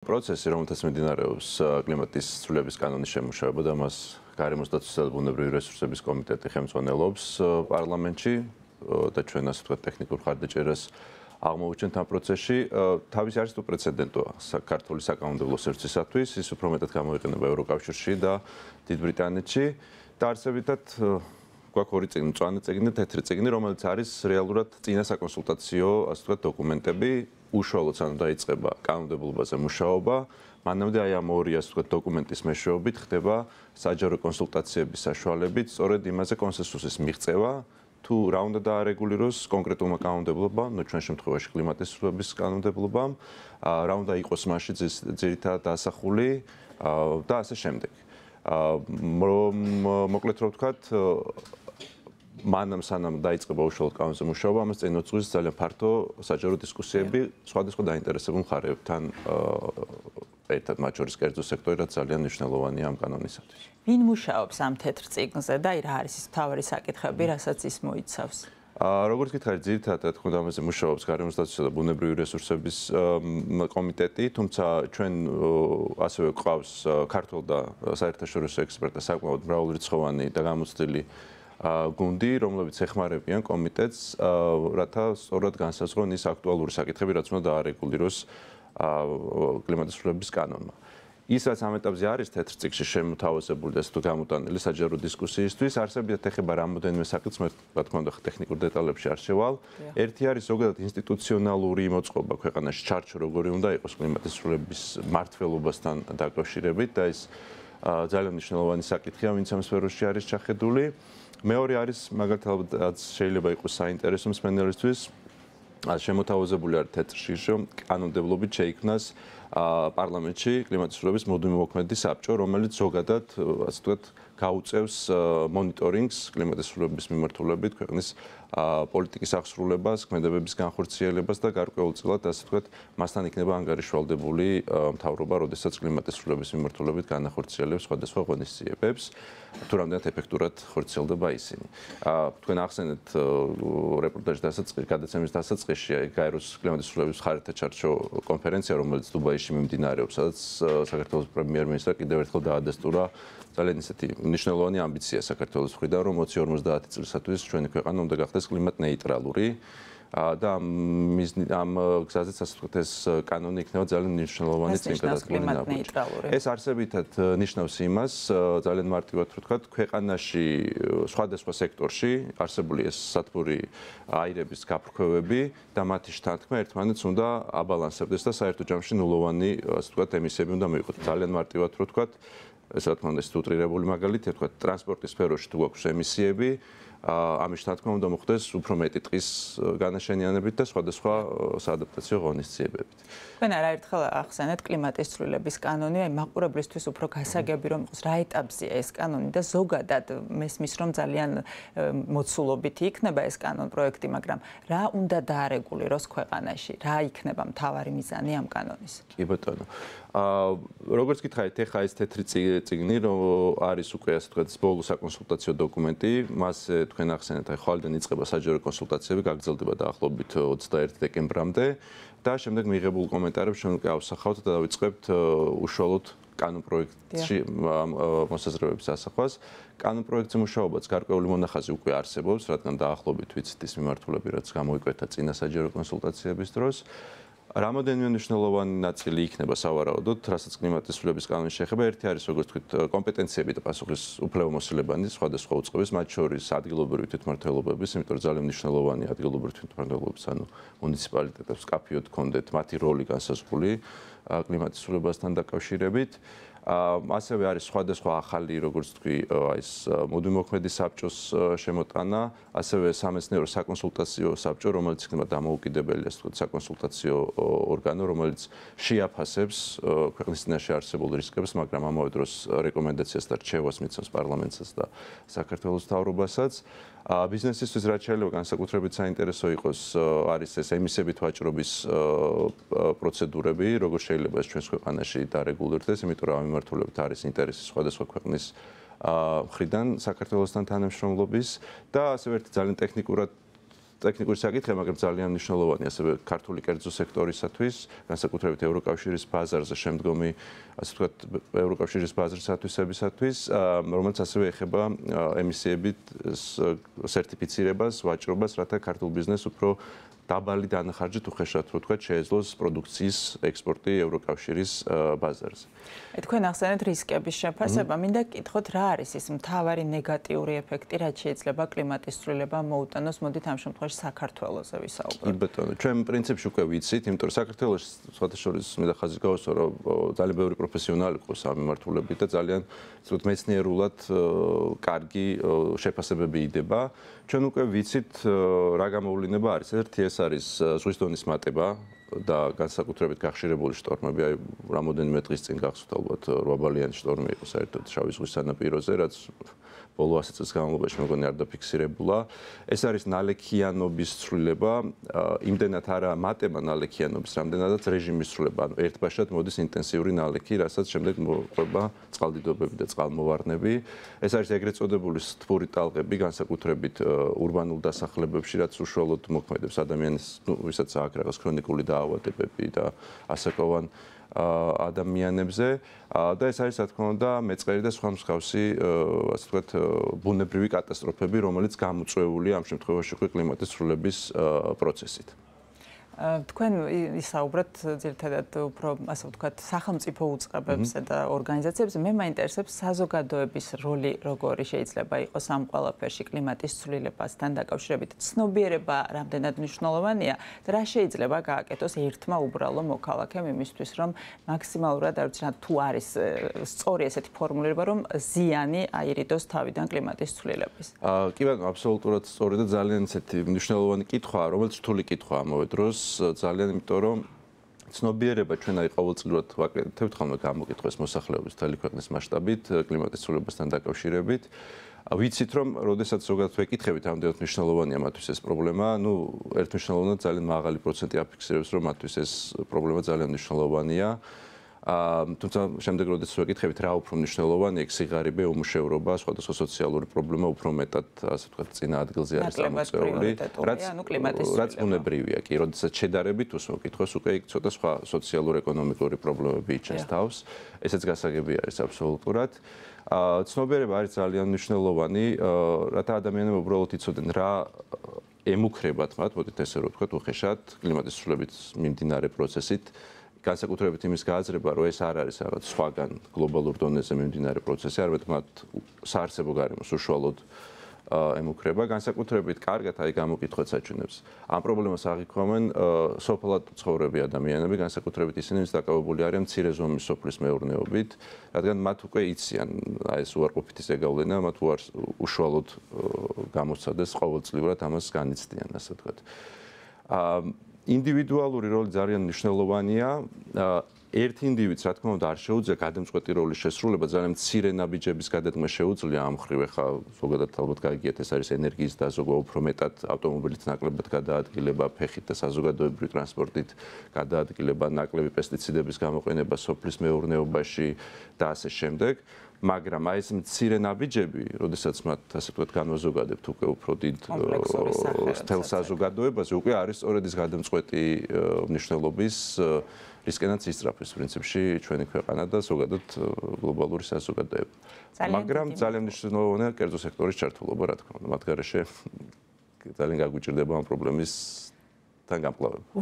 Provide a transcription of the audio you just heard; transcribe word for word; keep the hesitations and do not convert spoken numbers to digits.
პროცესი, რომელთაც მიმდინარეობს კლიმატის ცვლილების კანონის შემუშავება და მას გარემოს დაცვის და ბუნებრივი რესურსების კომიტეტი ხელმძღვანელობს პარლამენტში და ჩვენ ასე ვთქვათ ტექნიკურ მხარდაჭერას აღმოვუჩენთ ამ პროცესში. თავის არის თუ პრეცედენტოა საქართველოს საკანონმდებლო სივრცისათვის, ის უფრო მეტად გამოიყენება ევროკავშირში და დიდ ბრიტანეთში და არსებითად გვაქვს ორი წიგნი, მწვანე წიგნი და თეთრი წიგნი, რომელიც არის რეალურად წინა საკონსულტაციო, ასე ვთქვათ, დოკუმენტები. უშუალოდ სანამ დაიწყება კანონმდებლობაზე მუშაობა, მანამდე აი ამ ორი ასე ვთქვათ დოკუმენტის მეშვეობით ხდება საჯარო კონსულტაციების საშუალებით, სწორედ იმაზე კონსენსუსის მიღწევა, თუ რა უნდა დაარეგულიროს კონკრეტულმა კანონმდებლობამ, ნუ ჩვენ შემთხვევაში კლიმატის ცვლილების კანონმდებლობამ, რა უნდა იყოს მასში ძირითადად ასახული და ასე შემდეგ. მოკლედ რომ ვთქვათ, მანამ სანამ დაიწყება უშუალოდ კანონზე მუშაობა, ამას წინ უძღვის ძალიან ფართო საჯარო დისკუსიები სხვადასხვა დაინტერესებულ მხარეებთან ერთად, მათ შორის კერძო სექტორი, რაც ძალიან მნიშვნელოვანია ამ კანონისათვის. ვინ მუშაობს ამ თეთრ წიგნზე და რა არის ის მთავარი საკითხები, რასაც ის მოიცავს? როგორც გითხარით, ძირითადად რა თქმა უნდა ამაზე მუშაობს გარემოს დაცვისა და ბუნებრივი რესურსების კომიტეტი, თუმცა ჩვენ ასევე გვყავს ქართულ და საერთაშორისო ექსპერტთა საკმაოდ მრავალრიცხოვანი და გამოცდილი გუნდი, რომლებიც ეხმარებიან კომიტეტს, რათა სწორად განსაზღვრონ ის აქტუალური საკითხები, რაც უნდა დაარეგულიროს კლიმატის ცვლილების კანონმა. ის, რაც ამ ეტაპზე არის თეთრ წიგნში შემოთავაზებული და თუ გამოტანილი საჯარო დისკუსიისთვის, არსებითად ეხება რამოდენიმე საკითხს, მე რა თქმა უნდა ტექნიკურ დეტალებში არ შევალ. ერთი არის ზოგადად ინსტიტუციონალური მოწყობა ქვეყანაში, ჩარჩო როგორი უნდა იყოს კლიმატის ცვლილების მმართველობასთან დაკავშირებით და ეს ძალიან მნიშვნელოვანი საკითხია, ვინც ამ სფეროში არის ჩახედული. მეორე არის მაგალითად შეიძლება იყოს საინტერესო მსმენელისთვის შემოთავაზებული არის თეთრში, რომ კანონმდებლობით შეიქმნას პარლამენტში კლიმატის ცვლილების მოდმიმოქმედი საბჭო, რომელიც ზოგადად, ასე ვთქვათ, გაუწევს მონიტორინგს კლიმატის ცვლილების მიმართულებით, ქვეყნის პოლიტიკის აღსრულებას, ქმედებების განხორციელებას და გარკვეულწილად, ასე ვთქვათ, მასთან იქნება ანგარიშვალდებული მთავრობა, როდესაც კლიმატის ცვლილების მიმართულებით განახორციელებს სხვადასხვა ღონისძიებებს, თუ რამდენად ეფექტურად ხორციელდება ისინი. თქვენ ახსენეთ რეპორტაჟის დასაწყისში, გადაცემის დასაწყისში გაეროს კლიმატის ცვლილების მხარეთა ჩარჩო კონფერენცია, რომელიც დუბაიში მიმდინარეობს, სადაც საქართველოს პრემიერ-მინისტრმა კიდევ ერთხელ დაადასტურა ძალიან ისეთი მნიშვნელოვანი ამბიცია საქართველოს მხრიდან, რომ ოცი ორმოცდაათი წლისათვის ჩვენი ქვეყანა უნდა გახდეს კლიმატ ნეიტრალური და ამ გზაზეც ასე ვთქვათ ეს კანონი იქნება ძალიან მნიშვნელოვანი წინგადადგმული ნაბიჯი. ეს არსებითად ნიშნავს იმას, ძალიან მარტივად ვთქვათ, ქვეყანაში სხვადასხვა სექტორში არსებული ეს სათბური აირების გაფრქვევები და მათი შთანთქმა ერთმანეთს უნდა აბალანსებდეს და საერთო ჯამში ნულოვანი ასე ვთქვათ ემისიები უნდა მიიღოთ. ძალიან მარტივად ვთქვათ, ეს რა თქმა უნდა ის უტრირებული მაგალითია, თქვა ტრანსპორტის სფეროში თუ გვაქვს ემისიები, ამის თქმა უნდა მოხდეს უფრო მეტი ტყის განაშენიანებით და სხვადასხვა საადაპტაციო ღონისძიებებით. თქვენ არაერთხელ ახსენეთ კლიმატის ცვლილების კანონი, აი მაყურებლისთვის უფრო გასაგები რომ იყოს რა ეტაპზეა ეს კანონი და ზოგადად მესმის რომ ძალიან მოცულობითი იქნება ეს კანონ პროექტი, მაგრამ რა უნდა დაარეგულიროს ქვეყანაში, რა იქნება მთავარი მიზანი ამ კანონის? კი ბატონო. აა როგორც გითხარით, ეხა ეს თეთრი წიგნი, რომ არის უკვე ასე ვთქვათ ბოლო საკონსულტაციო დოკუმენტი, მას თქვენ ახსენეთ, აი ხვალიდან იწყება საჯარო კონსულტაციები, გაგრძელდება დაახლოებით ოცდაერთი დეკემბრამდე და შემდეგ მიღებულ კომენტარებს ჩვენ უკვე ავსახავთ და დავიწყებთ უშუალოდ კანონ პროექტში მოსაზრებების ასახვას. კანონ პროექტზე მუშაობაც გარკვეული მონახაზი უკვე არსებობს, რადგან დაახლოებით ვიცით ის მიმართულები, რაც გამოიკვეთა წინა საჯარო კონსულტაციების დროს. რამოდენიმე მნიშვნელოვანი ნაწილი იქნება სავარაუდოდ, რასაც კლიმატის ცვლილების კანონის შეეხება. ერთი არის, როგორც ვთქვით, კომპეტენციები და პასუხის უფლებამოსილებანი სხვადასხვა უწყების, მათ შორის ადგილობრივი თვითმმართველობების, იმიტომ რომ ძალიან მნიშვნელოვანი ადგილობრივი თვითმმართველობების, ანუ მუნიციპალიტეტებს კაფეოდ კონდეთ მათი როლი განსაზღვრული კლიმატის ცვლილებასთან დაკავშირებით. ასევე არის სხვადასხვა ახალი, როგორც თქვი, ეს მოდმიმოქმედი საბჭოს შემოტანა, ასევე სამეცნიერო საკონსულტაციო საბჭო, რომელიც იქნება დამოუკიდებელი, ასე ვთქვათ, საკონსულტაციო ორგანო, რომელიც შეაფასებს ქვეყნის წინაშე არსებულ რისკებს, მაგრამ ამავე დროს რეკომენდაციას და რჩევას მიცემს პარლამენტსაც და საქართველოს მთავრობასაც. ბიზნესისთვის რაც შეიძლება განსაკუთრებით საინტერესო იყოს, არის ეს ემისიებით ვაჭრობის პროცედურები, როგორ შეიძლება ეს ჩვენს ქვეყანაში დარეგულირდეს, იმიტომ რომ ამ მიმართულებით არის ინტერესი სხვადასხვა ქვეყნის მხრიდან საქართველოსთან თანამშრომლობის და ასევე ერთი ძალიან ტექნიკურად ტექნიკური საკითხია, მაგრამ ძალიან მნიშვნელოვანი ასევე ქართული კერძო სექტორისათვის, განსაკუთრებით ევროკავშირის ბაზარზე შემდგომი, ასე ვთქვათ, ევროკავშირის ბაზრის ათვისებისათვის, რომელიც ასევე ეხება ემისიებით სერტიფიცირებას, ვაჭრობას, რათა ქართულ ბიზნესს უფრო დაბალი დანახარჯით უხეშად რო თქვა შეეძლოს პროდუქციის ექსპორტი ევროკავშირის ბაზარზე. თქვენ ახსენეთ რისკების შეფასება, მინდა გკითხოთ რა არის ის მთავარი ნეგატიური ეფექტი, რაც შეიძლება კლიმატის ცვლილებამ მოუტანოს, მოდით ამ შემთხვევაში საქართველოზე ვისაუბროთ. კი ბატონო, ჩვენ პრინციპში უკვე ვიცით, იმიტომ რომ საქართველოს სხვათა შორის მინდა ხაზი გავუსვა, რომ ძალიან ბევრი პროფესიონალი ყავს ამ მიმართულებით და ძალიან ცუდ მეცნიერულად კარგი შეფასებები იდება. ჩვენ უკვე ვიცით რა გამოვლინება არის. ერთი ეს არის ზღვის დონის მატება და განსაკუთრებით გახშირებული შტორმები, აი რამოდენიმე დღის წინ გახსოვთ ალბათ რვა ბალიანი შტორმი იყო საერთოდ შავი ზღვის სანაპიროზე, რაც ბოლო ასი წლის განმავლობაში მეგონი არ დაფიქსირებულა. ეს არის ნალექიანობის ცვლილება, იმდენად არა მატება ნალექიანობის, რამდენადაც რეჟიმის ცვლილება. ანუ ერთბაშად მოდის ინტენსიური ნალექი, რასაც შემდეგ მოყვება წყალდიდობები და წყალმოვარდნები. ეს არის ეგრეთ წოდებული სთბური ტალღები, განსაკუთრებით ურბანულ დასახლებებში, რაც უშუალოდ მოქმედებს ადამიანის, ну, ვისაც აქვს რაღაც ქრონიკული დაავადებები და ასაკოვან ადამიანებზე და ეს არის, რა თქმა უნდა, მეწყერი და სხვა მსგავსი, ასე ვთქვათ, ბუნებრივი კატასტროფები, რომელიც გამოწვეულია ამ შემთხვევაში უკვე კლიმატის ცვლილების პროცესით. თქვენ ისაუბრეთ ძირითადად უფრო, ასე ვთქვათ, სახელმწიფო უწყებებზე და ორგანიზაციებზე. მე მაინტერესებს საზოგადოების როლი, როგორი შეიძლება იყოს ამ ყველაფერში კლიმატის ცვლილებასთან დაკავშირებით. ცნობიერება რამდენად მნიშვნელოვანია და რა შეიძლება გააკეთოს ერთმა უბრალო მოქალაქემ იმისთვის, რომ მაქსიმალურად, არ ვიცი რა, თუ არის სწორი ესეთი ფორმულირება, რომ ზიანი აირიდოს თავიდან კლიმატის ცვლილების. კი ბატონო, აბსოლუტურად სწორი და ძალიან ისეთი მნიშვნელოვანი კითხვაა, რომელიც რთული კითხვაა ამავე დროს. ძალიან, იმიტომ რომ ცნობიერება ჩვენ აი ყოველწლიურად ვაკეთებთ ხოლმე გამოკითხვას მოსახლეობის მთელი ქვეყნის მასშტაბით კლიმატის ცვლილებასთან დაკავშირებით. ვიცით რომ როდესაც ზოგადად ვეკითხებით ამდენად მნიშვნელოვანია მათთვის ეს პრობლემა, ну, ერთმნიშვნელოვნად ძალიან მაღალი პროცენტი აფიქსირებს, რომ მათთვის ეს პრობლემა ძალიან მნიშვნელოვანია. თუმცა შემდეგ როდესაც ვეკითხებით რა უფრო მნიშვნელოვანია, იქ სიღარიბე, უმუშევრობა, სხვადასხვა სოციალური პრობლემა უფრო მეტად, ასე ვთქვათ, წინა ადგილზე არის გამოწვეული, რაც რაც უნებრივია კი, როდესაც შედარებით უსმოკითხოს, უკვე იქ ცოტა სხვა სოციალურ-ეკონომიკური პრობლემები იჩენს თავს. ესეც გასაგები არის აბსოლუტურად. ცნობიერება არის ძალიან მნიშვნელოვანი, რათა ადამიანები უბრალოდ იცოდნენ რა ემუქრებათ მათ, მოდით ესე რომ ვთქვათ, უხეშად კლიმატის ცვლილებით მიმდინარე პროცესით. განსაკუთრებით იმის გააზრება, რომ ეს არ არის რაღაც სხვაგან გლობალურ დონეზე მიმდინარე პროცესი, არამედ მათ საარსებო გარემოს უშუალოდ ემუქრება. განსაკუთრებით კარგად აი გამოკითხვაც აჩვენებს. ამ პრობლემას აღიქვამენ სოფლად ცხოვრები ადამიანები, განსაკუთრებით ისინი, ვინც დაკავებული არიან მცირე ზომის სოფლის მეურნეობით, რადგან მათ უკვე იციან აი ეს უარყოფითი ზეგავლენა, მათ უარს უშუალოდ გამოსცადეს ყოველწლიურად ამას განიცდიან, ასე ვთქვათ. ინდივიდუალური როლი ძალიან მნიშვნელოვანია. ერთ ინდივიდს, რა თქმა უნდა, არ შეუძლია გადამწყვეტი როლის შესრულება, ძალიან მცირე ნაბიჯების გადადგმა შეუძლია ამ მხრივ. ახლა ზოგადად ალბათ გაიგიათ, ეს არის ენერგიის დაზოგვა, უფრო მეტად ავტომობილით ნაკლებად გადაადგილება, ფეხით და საზოგადოებრივი ტრანსპორტით გადაადგილება, ნაკლები პესტიციდების გამოყენება სოფლის მეურნეობაში და ასე შემდეგ. მაგრამ აი ეს მცირე ნაბიჯები, როდესაც მათ ასე ვთქვათ განვაზოგადებთ უკვე უფრო დიდ თელ საზოგადოებაზე, უკვე არის სწორედ ის გადამწყვეტი მნიშვნელობის რისკენაც ისწრაფვის პრინციპში ჩვენი ქვეყანა და ზოგადად გლობალური საზოგადოება. მაგრამ ძალიან მნიშვნელოვანია კერძო სექტორის ჩართულობა, რა თქმა უნდა, მათ გარეშე ძალიან გაგვიჭირდება ამ პრობლემისთან გამკლავება.